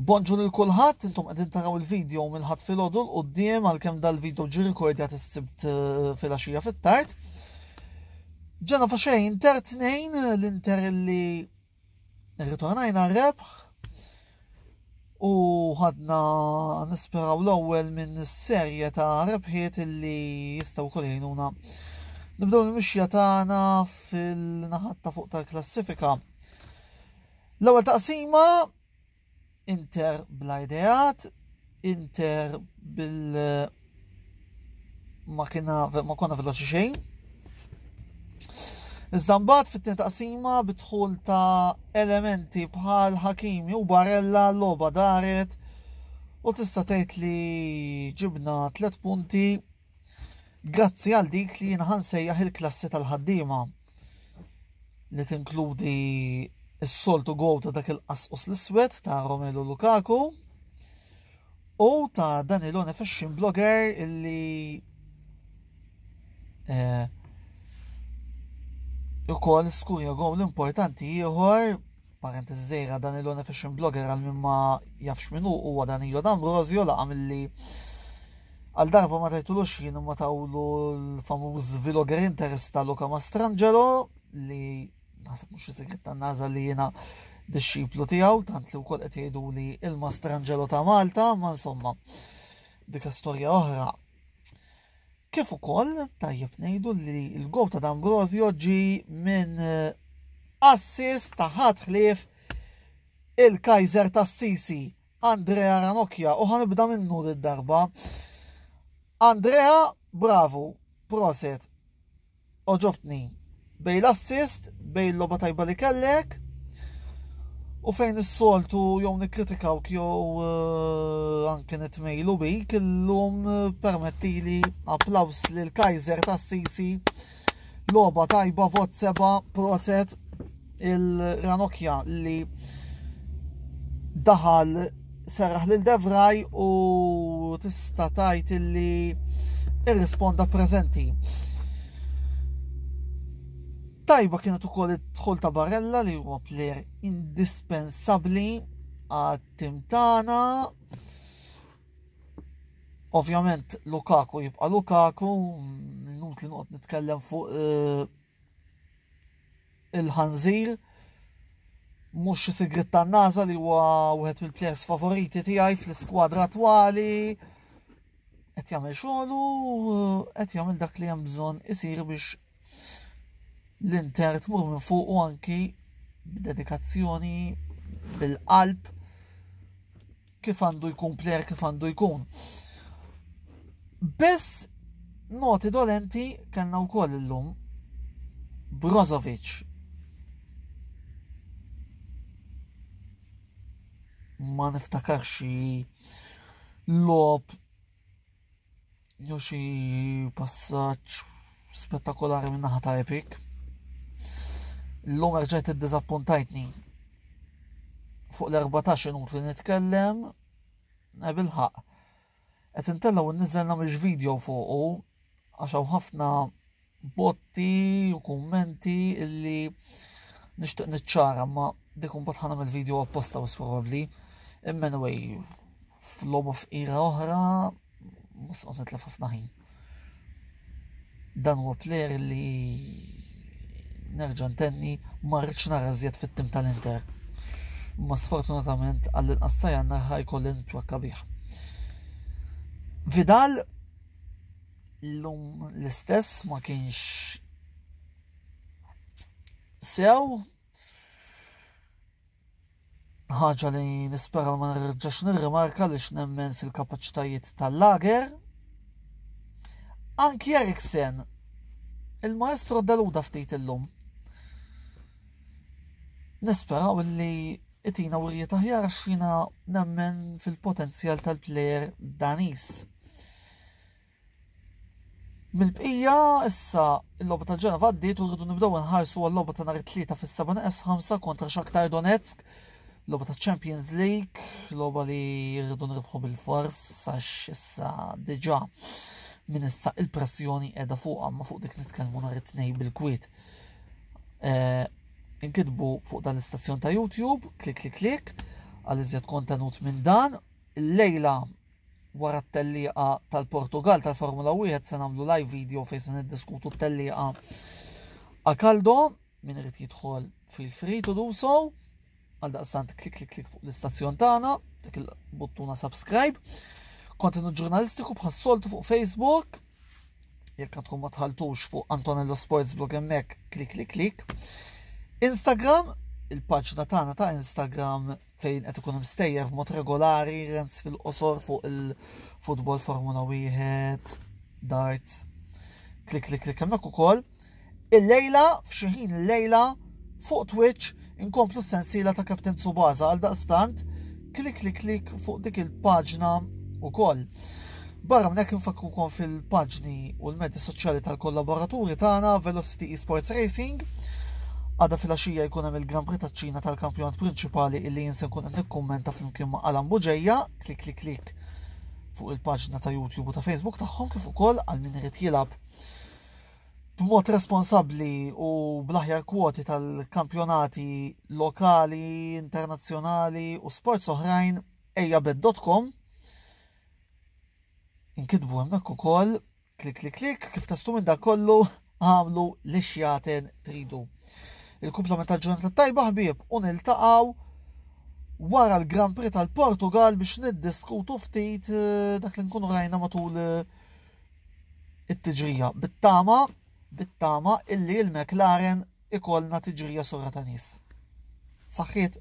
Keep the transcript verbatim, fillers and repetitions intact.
Bonġu lil kulħadd, intom qegħdin taraw il-video mill-Ħadd filgħodu 'l quddiem, għalkemm dal-video ġie rikordjat is-Sibt eh, filgħaxija fit-tard. Ġenova xejn, Inter tnejn, l-Inter li rritornajna rebħ u ħadna nisperaw l-ewwel minn serje ta' rebħiet li jistgħu wkoll jgħinuna nibdew il-mixja tagħna fil-naħat ta' fuq tal-klassifika. L-ewwel taqsima, Inter bla ideat, Inter bil ma kiena ma konna veloċi xejn. Iżda mbagħad fit-tieni taqsima, bidħul ta' elementi bħal Hakimi u Barella, logħba daret u tista' tgħid li ġibna tliet punti grazzi għal dik li jiena nsejjaħ il-klassi tal-ħaddiema, li tinkludi s-soltu gowl ta' dak il-qasqus l-iswed ta' Romelu Lukaku u ta' Danilo Fashion Blogger illi eh, ukoll skurja gowl importanti ieħor. Parentesi żgħira, Danilo Fashion Blogger, għal min ma jafx min hu, huwa Danilo D'Ambrosio, laqa milli għal darba ma tajtulux jien ma tawlu l-famuż vlogger interista Luca Mastrangelo, li naħseb mhux segret tan-NASA li jiena dixxiplu tiegħu, tant li wkoll qed jgħidu li il-Mastrangelo ta' Malta, ma insomma, dik storja oħra. Kif ukoll tajjeb ngħidu li l-gowl ta' D'Ambrosio ġi minn eh, assist ta' ħadd ħlief il-Kaiser tas-Sisi, Andrea Ranocchia, u ħa nibda minnu d-darba. Andrea, bravo, proset. Għoġobtni. Bejn l-assist, bejn l-logħba tajba li kellek, u fejn is-soltu jew nikkritikawk jew eh, anke nitmejlu bik, illum eh, permettili applaus lil Kaiser tas-Sisi. Logħba tajba, vot seba', proset il-Ranocchia li daħal, serraħ lil De Vrij u tista' tgħid illi irrisponda preżenti. Tajba kienet ukoll id-dħul ta' Barella, li huwa player indispensabbli għat-tim tagħna. Ovvjament Lukaku jibqa' Lukaku, inutli noqgħod nitkellem fuq eh, il-ħanżir, mhux xi sigrit tan-NASA li huwa wieħed mill-players favoriti tiegħi fl-iskwadra attwali. Qed jagħmel xogħlu, qed jagħmel dak li hemm bżonn isir biex l-Inter tmur minn fuq, u anki b'dedikazzjoni, bil-qalb, kif għandu jkun player, kif għandu jkun. Biss noti dolenti kellna wkoll illum. Brozovic, ma niftakarx xi logħob jew xi passaġġ spettakolari minn naħa ta' Epic. Illum rġajt iddiżappuntajtni. Fuq l-erbatax inutli nitkellem, bil-ħaq. Qed intellgħu u nniżel nagħmel video fuqu għax hawn ħafna botti u kummenti illi nixtieq niċċara, ma dik imbagħad ħa nagħmel video apposta u probabbli. Imma anyway, f'logħba fqira oħra mhux noqgħod nitlef ħafna ħin. Dan huwa player li nerġa' ntenni, ma rridx nara żjed fit-tim tal-Inter. Ma sfortunatament għall-inqas sa Jannar ħa jkolli nitwakka bih. Vidal l-lum l-istess, ma kienx sew, ħaġa li nispera ma nerġax nirrimarka li nemmen fil-kapaċitajiet tal-lager. Anki Eriksen, il-maestro deluda ftit illum. Nisperaw li itina wirjiet aħjar, xina nemmen fil-potenzjal tal-player Danis. Mill-bqija, issa il-logħba tal-Ġenova għaddiet u rridu nibdew nħarsu għal-logħba ta' nhar it-Tlieta fis-seba' neqes ħamsa kontra Shakhtar Donetsk, logħba ta' Champions League, logħba li rridu nirbħu bil-fors għax issa diġà minn issa il-pressjoni qiegħda fuqha, ma fuq dik nitkellmu nhar it-Tnejn bil-kwiet. Eh, inkitbu fuq dan l-istazzjon ta' YouTube, klik klik klik, Għal iżjed kontenut minn dan, illejla wara t-tellieqa tal-Portugal tal-Formula wieħed se nagħmlu live video fejn se niddiskutu t-tellieqa a caldo. Min irid jidħol, feel free to do so. Għal daqstant klik klik klik fuq l-istazzjon tagħna, dik il-buttuna subscribe. Kontenut ġurnalistiku bħas-soltu fuq Facebook. Jekk għandkom ma dħaltux fuq Antonello Sports Blog hemmhekk, klik klik klik. Instagram, il-paġna tagħna ta' Instagram fejn qed ikun mstejjer b'mod regolari rants fil-qosor fuq il-futbol, Formula wieħed, darts. Klik klik klik hemmhekk ukoll. Il-lejla, f'xi ħin il-lejla fuq Twitch inkomplu s-sensiela ta' Captain Tsubasa, għal daqstant klik klik klik fuq dik il-paġna ukoll. Barra minn hekk infakrukom fil-paġni u l-medji soċjali tal-kollaboraturi tagħna, Velocity Esports Racing. Għada filgħaxija jkun hemm il-Grand Prix taċ-Ċina tal-kampjonat prinċipali illi jien se nkun qed nikkummenta flimkien ma' Alan Buġeja, klik klik klik fuq il-paġna ta' YouTube u ta' Facebook tagħhom, kif ukoll għal min irid jilgħab b'mod responsabbli u bl-aħjar kwoti tal-kampjonati lokali, internazzjonali u sports oħrajn, ejjabet punt com inkitbu hemmhekk ukoll, klik klik klik. Kif testu minn dak kollu, għamlu li xjaten tridu. Il-kumplament tal-ġurnata tajba, ħbieb, u niltaqgħu wara l-Grand Prix tal-Portugal biex niddiskutu ftit eh, dak li nkunu rajna matul eh, it-tiġrija. Bit-tama, bit-tama illi il-McLaren ikollna tiġrija sura ta' nies. Saħħiet.